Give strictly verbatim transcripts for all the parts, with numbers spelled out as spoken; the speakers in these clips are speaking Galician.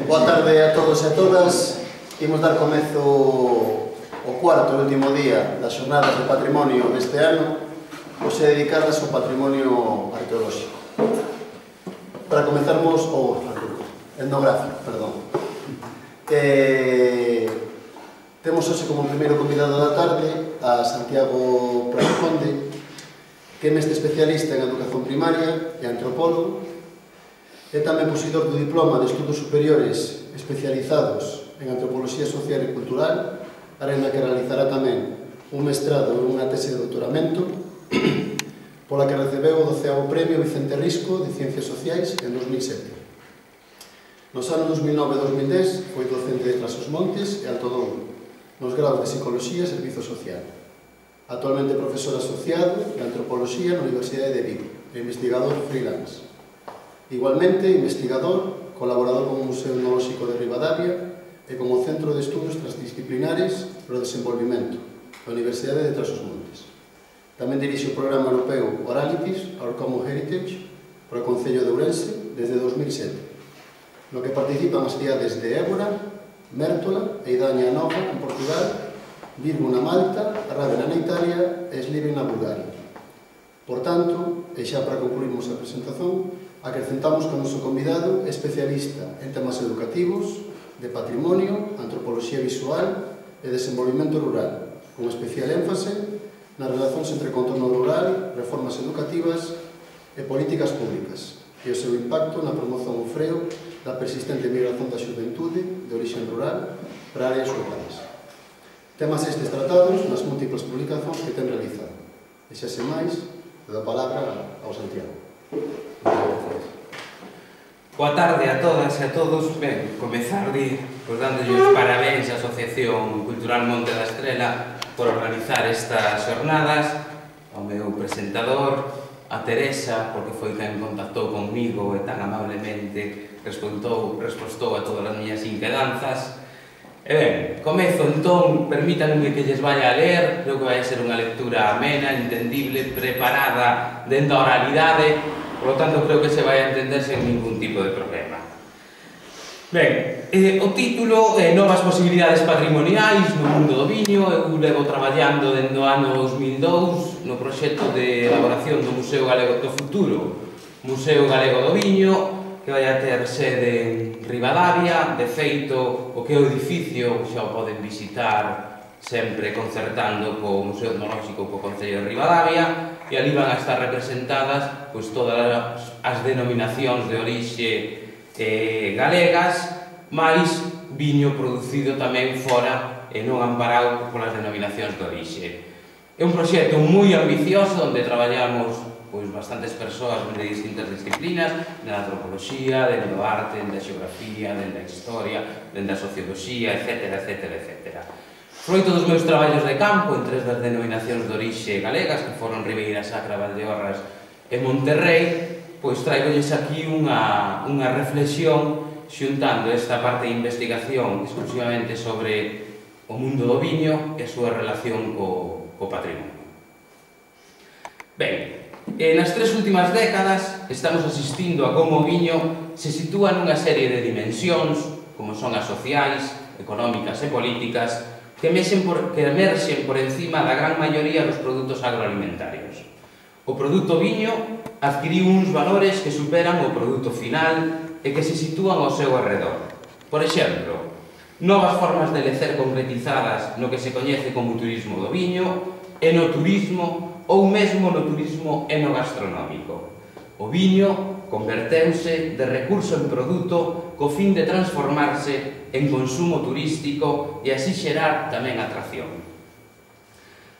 Boa tarde a todos e a todas. Imos dar comezo o cuarto e último día das xornadas de patrimonio deste ano, hoxe dedicadas ao patrimonio arqueolóxico. Para comezarmos, ou etnográfico, perdón. Eh, temos hoxe como primeiro convidado da tarde a Santiago Prasconde, que é mestre especialista en educación primaria e antropólogo. É tamén posidor do diploma de estudos superiores especializados en antropoloxía social e cultural, área na que realizará tamén un mestrado e unha tese de doutoramento, pola que recebeu o doceavo Premio Vicente Risco de Ciencias Sociais en dos mil sete. Nos anos dos mil nove e dos mil dez foi docente de Trás-os-Montes e Alto Douro, nos graus de Psicoloxía e Servizo Social. Actualmente profesor asociado de Antropoloxía na Universidade de Vigo e investigador freelance. Igualmente, investigador, colaborador con o Museo Etnolóxico de Ribadavia e con o Centro de Estudos Transdisciplinares para o Desenvolvimento da Universidade de Trás-os-Montes. Tamén dirixe o programa europeo Oralities, Our Common Heritage, para o Concello de Ourense desde dos mil sete, no que participan as cidades de Évora, Mértola e Idaña Nova en Portugal, Virgo na Malta, Rávena na Italia e Sliven na Bulgaria. Por tanto, e xa para concluirmos a presentación, acrecentamos que o noso convidado é especialista en temas educativos, de patrimonio, antropoloxía visual e desenvolvimento rural, con especial énfase nas relacións entre contorno rural, reformas educativas e políticas públicas, e o seu impacto na promoción ou freo da persistente migración da xuventude de origen rural para áreas urbanas. Temas estes tratados nas múltiples publicacións que ten realizado. E xa se máis, le dou a palabra ao Santiago. Boa tarde a todas e a todos. Ben, comezar de, pues, dándolle os parabéns á Asociación Cultural Monte da Estrela por organizar estas xornadas, ao meu presentador, a Teresa, porque foi quen contactou conmigo e tan amablemente respostou, respostou a todas as miñas inquedanzas. E ben, comezo entón, permítanme que lles vaya a ler, creo que vai ser unha lectura amena, entendible, preparada dentro da oralidade. Por lo tanto, creo que se vai a entender sen ningún tipo de problema. Ben, eh, o título é Novas posibilidades patrimoniais no mundo do viño. Eu levo traballando dende o ano dos mil dous no proxecto de elaboración do Museo Galego do Futuro, Museo Galego do Viño, que vai a ter sede en Ribadavia. De feito, o que é o edificio xa o poden visitar sempre concertando co Museo Etnolóxico co Concello de Ribadavia, e ali van a estar representadas pois, todas as denominacións de orixe eh, galegas, máis viño producido tamén fora e non amparado polas denominacións de orixe. É un proxecto moi ambicioso onde traballamos pois, bastantes persoas de distintas disciplinas, da antropoloxía, dende o arte, dende a xeografía, dende a historia, dende a socioloxía, etcétera, etcétera, etcétera. Froito dos meus traballos de campo en tres das denominacións de orixe galegas, que foron Ribeira Sacra, Valdeorras e Monterrei, pois traigolles aquí unha, unha reflexión xuntando esta parte de investigación exclusivamente sobre o mundo do viño e a súa relación co, co patrimonio. Ben, e nas tres últimas décadas estamos asistindo a como o viño se sitúa nunha serie de dimensións, como son as sociais, económicas e políticas, que emerxen por, que emerxen por encima da gran maioría dos produtos agroalimentarios. O produto viño adquiriu uns valores que superan o produto final e que se sitúan ao seu arredor. Por exemplo, novas formas de lecer concretizadas no que se coñece como turismo do viño, enoturismo ou mesmo no turismo enogastronómico. O viño converteuse de recurso en produto co fin de transformarse en consumo turístico e así xerar tamén atracción.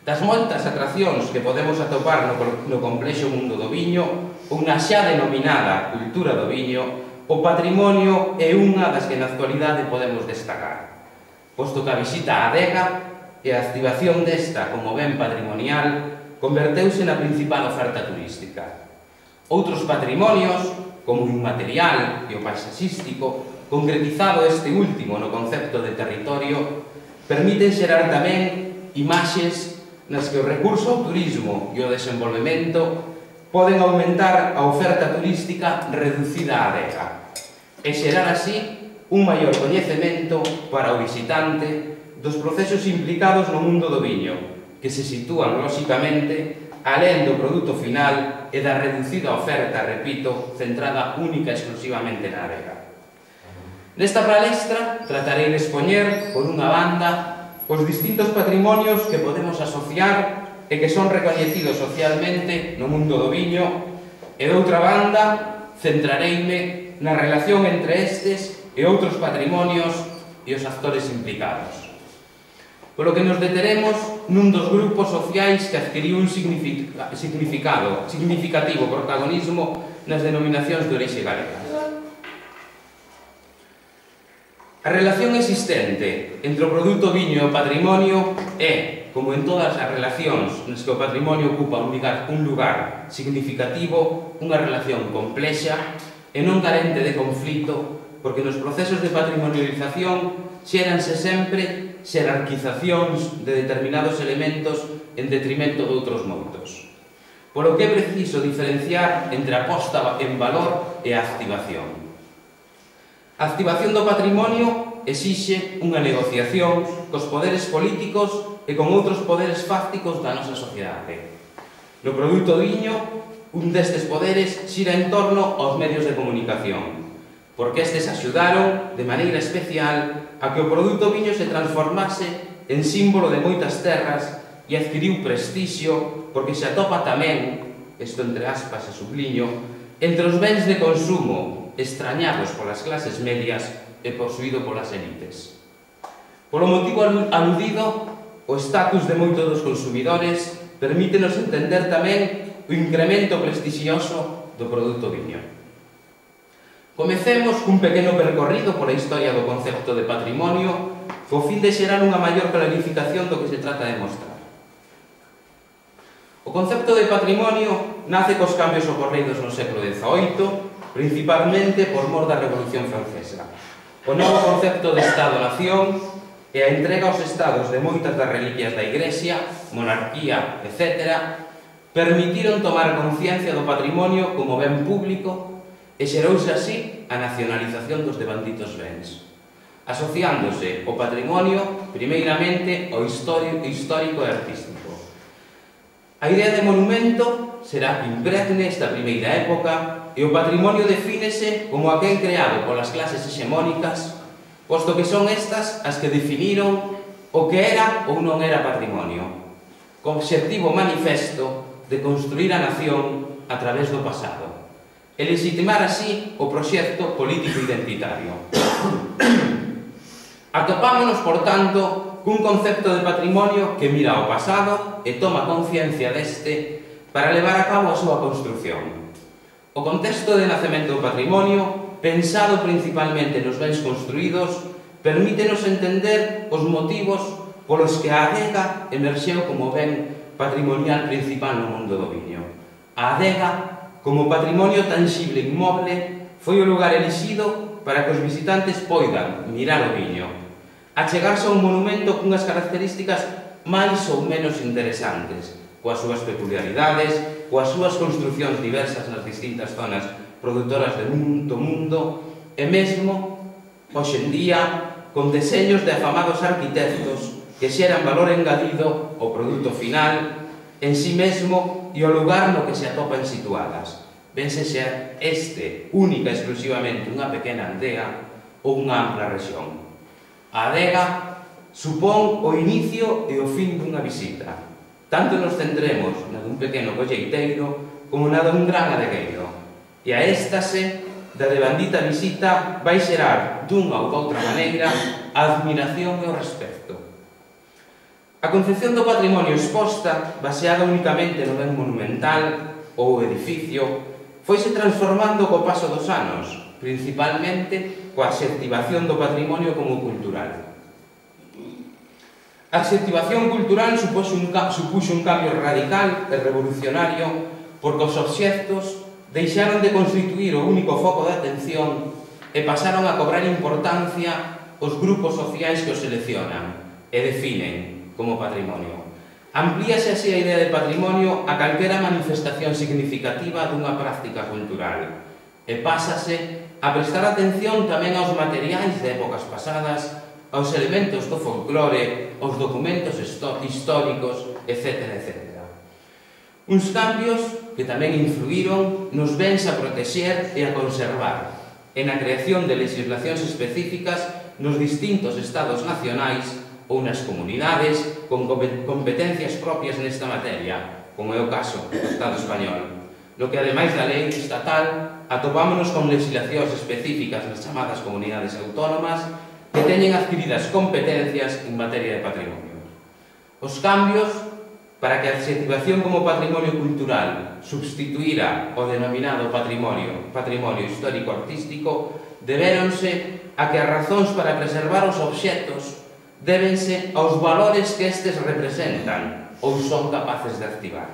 Das moitas atraccións que podemos atopar no, no complexo mundo do viño, ou na xa denominada cultura do viño, o patrimonio é unha das que na actualidade podemos destacar, posto que a visita á adega e a activación desta como ben patrimonial converteuse na principal oferta turística. Outros patrimonios, como o inmaterial e o paisaxístico, concretizado este último no concepto de territorio, permiten xerar tamén imaxes nas que o recurso ao turismo e o desenvolvemento poden aumentar a oferta turística reducida á adega. e xerar así un maior coñecemento para o visitante dos procesos implicados no mundo do viño, que se sitúan, lóxicamente, alén do produto final e da reducida oferta, repito, centrada única e exclusivamente na adega. Nesta palestra tratarei de expoñer, por unha banda, os distintos patrimonios que podemos asociar e que son recoñecidos socialmente no mundo do viño, e doutra banda, centrareime na relación entre estes e outros patrimonios e os actores implicados. Polo que nos deteremos nun dos grupos sociais que adquiriu un significado, significativo protagonismo nas denominacións de orixe galega. A relación existente entre o produto viño e o patrimonio é, como en todas as relacións nas que o patrimonio ocupa un lugar, un lugar significativo, unha relación complexa e non carente de conflito, porque nos procesos de patrimonialización xéranse sempre xerarquizacións de determinados elementos en detrimento de outros moitos. Polo que é preciso diferenciar entre a posta en valor e a activación. A activación do patrimonio exixe unha negociación cos poderes políticos e con outros poderes fácticos da nosa sociedade. No produto viño, un destes poderes xira en torno aos medios de comunicación, porque estes axudaron, de maneira especial, a que o produto viño se transformase en símbolo de moitas terras e adquiriu prestixio porque se atopa tamén, isto entre aspas e subliño, entre os bens de consumo extrañados polas clases medias e posuído polas élites. Polo motivo aludido, o estatus de moitos dos consumidores permítenos entender tamén o incremento prestixioso do produto viño. Comecemos cun pequeno percorrido pola historia do concepto de patrimonio co fin de xerar unha maior clarificación do que se trata de mostrar. O concepto de patrimonio nace cos cambios ocorridos no século dezaoito, principalmente por mor da Revolución Francesa. O novo concepto de Estado-Nación e a entrega aos estados de moitas das reliquias da Igrexa, monarquía, etcétera, permitiron tomar conciencia do patrimonio como ben público e xerouse así a nacionalización dos devanditos bens, asociándose o patrimonio primeiramente ao histórico e artístico. A idea de monumento será que impregne esta primeira época e o patrimonio defínese como aquel creado polas clases hexemónicas, posto que son estas as que definiron o que era ou non era patrimonio, co obxectivo manifesto de construir a nación a través do pasado e legitimar así o proxecto político identitario. Atopámonos, por tanto, cun concepto de patrimonio que mira ao pasado e toma conciencia deste para levar a cabo a súa construción. O contexto de nacemento do patrimonio, pensado principalmente nos bens construídos, permítenos entender os motivos polos que a adega emerxeu como ben patrimonial principal no mundo do viño. A adega, como patrimonio tangible e inmoble, foi o lugar elixido para que os visitantes poidan mirar o viño, achegarse a un monumento cunhas características máis ou menos interesantes, coas súas peculiaridades, coas súas construcións diversas nas distintas zonas produtoras do mundo, e mesmo, hoxe en día, con deseños de afamados arquitectos que xeran valor engadido ao produto final, en sí mesmo e o lugar no que se atopan situadas, ben se xa este única e exclusivamente unha pequena aldea ou unha ampla rexión. A adega supón o inicio e o fin dunha visita. Tanto nos centremos na dun pequeno colleiteiro como na dun gran adegueiro. E a éstase da devandita visita vai xerar dunha ou doutra maneira a admiración e o respecto. A concepción do patrimonio exposta, baseada únicamente no ben monumental ou edificio, foise transformando co paso dos anos, principalmente coa adxectivación do patrimonio como cultural. A adxectivación cultural supuxo un, supuxo un cambio radical e revolucionario porque os obxectos deixaron de constituir o único foco de atención e pasaron a cobrar importancia os grupos sociais que os seleccionan e definen como patrimonio. Amplíase así a idea de patrimonio a calquera manifestación significativa dunha práctica cultural e pásase a prestar atención tamén aos materiais de épocas pasadas, aos elementos do folclore, aos documentos históricos, etcétera, etcétera. Uns cambios que tamén influíron nos bens a protexer e a conservar, e na creación de legislacións específicas nos distintos estados nacionais ou nas comunidades con competencias propias nesta materia, como é o caso do Estado español, no que, ademais da lei estatal, atopámonos con legislacións específicas nas chamadas comunidades autónomas que teñen adquiridas competencias en materia de patrimonio. Os cambios para que a adxetivación como patrimonio cultural substituíra o denominado patrimonio, patrimonio histórico-artístico, debéronse a que as razóns para preservar os obxectos débense aos valores que estes representan ou son capaces de activar.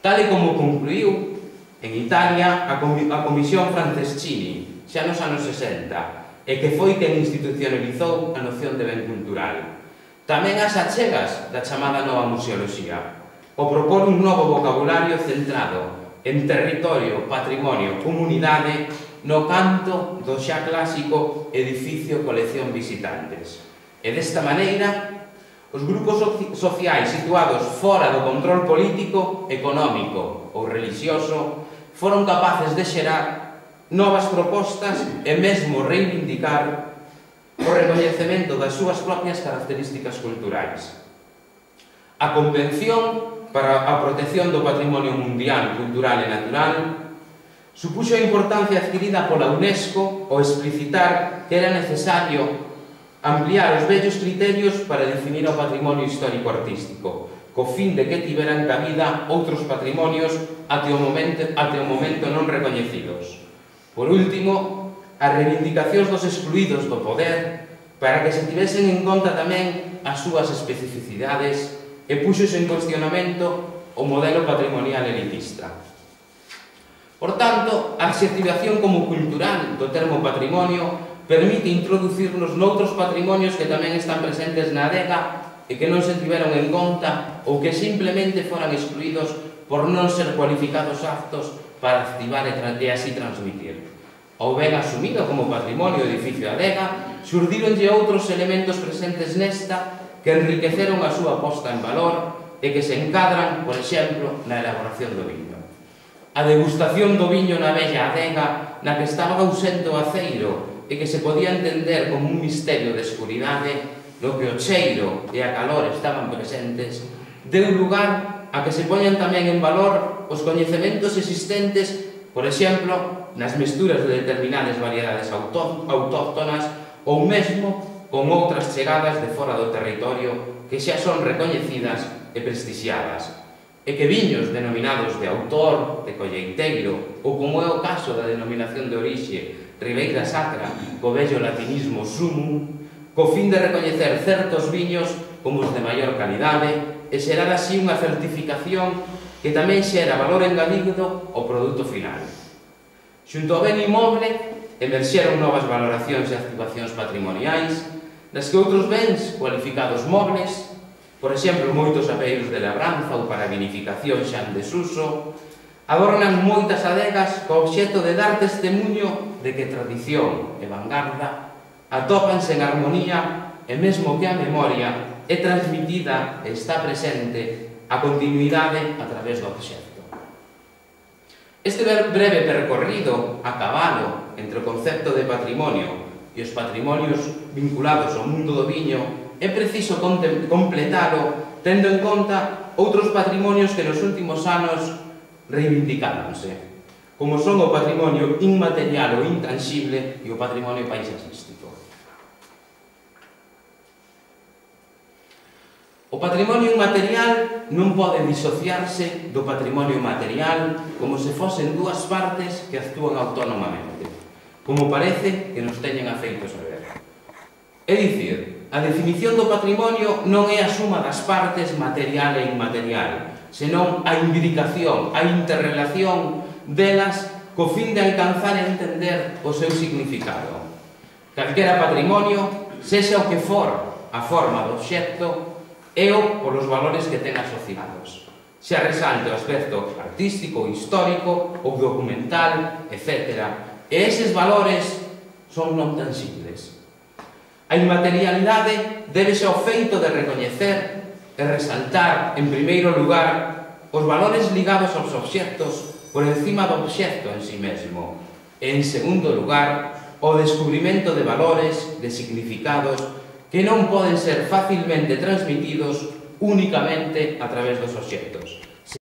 Tal e como concluiu en Italia a Comisión Franceschini, xa nos anos sesenta, e que foi quen institucionalizou a noción de ben cultural. Tamén as achegas da chamada nova museoloxía, o propor un novo vocabulario centrado en territorio, patrimonio, comunidade, no canto do xa clásico edificio colección visitantes. E desta maneira, os grupos sociais situados fora do control político, económico ou religioso foron capaces de xerar novas propostas e mesmo reivindicar o recoñecemento das súas propias características culturais. A Convención para a Protección do Patrimonio Mundial, Cultural e Natural supuxo a importancia adquirida pola UNESCO ao explicitar que era necesario ampliar os vellos criterios para definir o patrimonio histórico-artístico, co fin de que tiveran cabida outros patrimonios até o momento, até o momento non recoñecidos. Por último, as reivindicacións dos excluídos do poder para que se tivesen en conta tamén as súas especificidades e puxose en cuestionamento o modelo patrimonial elitista. Por tanto, a adxetivación como cultural do termo patrimonio permite introducirnos noutros patrimonios que tamén están presentes na adega e que non se tiveron en conta ou que simplemente foran excluídos por non ser cualificados aptos para activar e así transmitir. Ou ben asumido como patrimonio o edificio adega, xurdíronlle outros elementos presentes nesta que enriqueceron a súa posta en valor e que se encadran, por exemplo, na elaboración do viño. A degustación do viño na bella adega, na que estaba ausente o aceiro e que se podía entender como un misterio de escuridade, no que o cheiro e a calor estaban presentes, deu lugar a que se poñan tamén en valor os coñecementos existentes, por exemplo, nas mesturas de determinadas variedades autóctonas ou mesmo con outras chegadas de fora do territorio que xa son recoñecidas e prestixiadas, e que viños denominados de autor, de colleiteiro, ou como é o caso da denominación de orixe Ribeira Sacra, co vello latinismo sumum, co fin de recoñecer certos viños como os de maior calidade e xerar así unha certificación que tamén xera valor engadido ao produto final. Xunto ao ben inmoble, emerxeron novas valoracións e activacións patrimoniais, nas que outros bens cualificados mobles, por exemplo, moitos apeiros de labranza ou para vinificación xa en desuso, adornan moitas adegas co obxecto de dar testemunho de que tradición e vanguarda atópanse en armonía e mesmo que a memoria é transmitida e está presente a continuidade a través do obxecto. Este breve percorrido a cabalo entre o concepto de patrimonio e os patrimonios vinculados ao mundo do viño é preciso completalo tendo en conta outros patrimonios que nos últimos anos reivindicáronse, como son o patrimonio inmaterial ou intangible e o patrimonio paisaxístico. O patrimonio inmaterial non pode disociarse do patrimonio material como se fosen dúas partes que actúan autónomamente, como parece que nos teñen afeitos a ver. É dicir, a definición do patrimonio non é a suma das partes material e inmaterial, senón a imbricación, a interrelación delas co fin de alcanzar e entender o seu significado. Calquera patrimonio, sexa o que for a forma do obxecto, é o polos valores que ten asociados. Xa resalte o aspecto artístico, histórico ou documental, etcétera, E eses valores son non tangibles. A inmaterialidade débese ao feito de recoñecer e resaltar, en primeiro lugar, os valores ligados aos obxectos por encima do obxecto en si mesmo. E, en segundo lugar, o descubrimento de valores, de significados, que non poden ser facilmente transmitidos únicamente a través dos obxectos.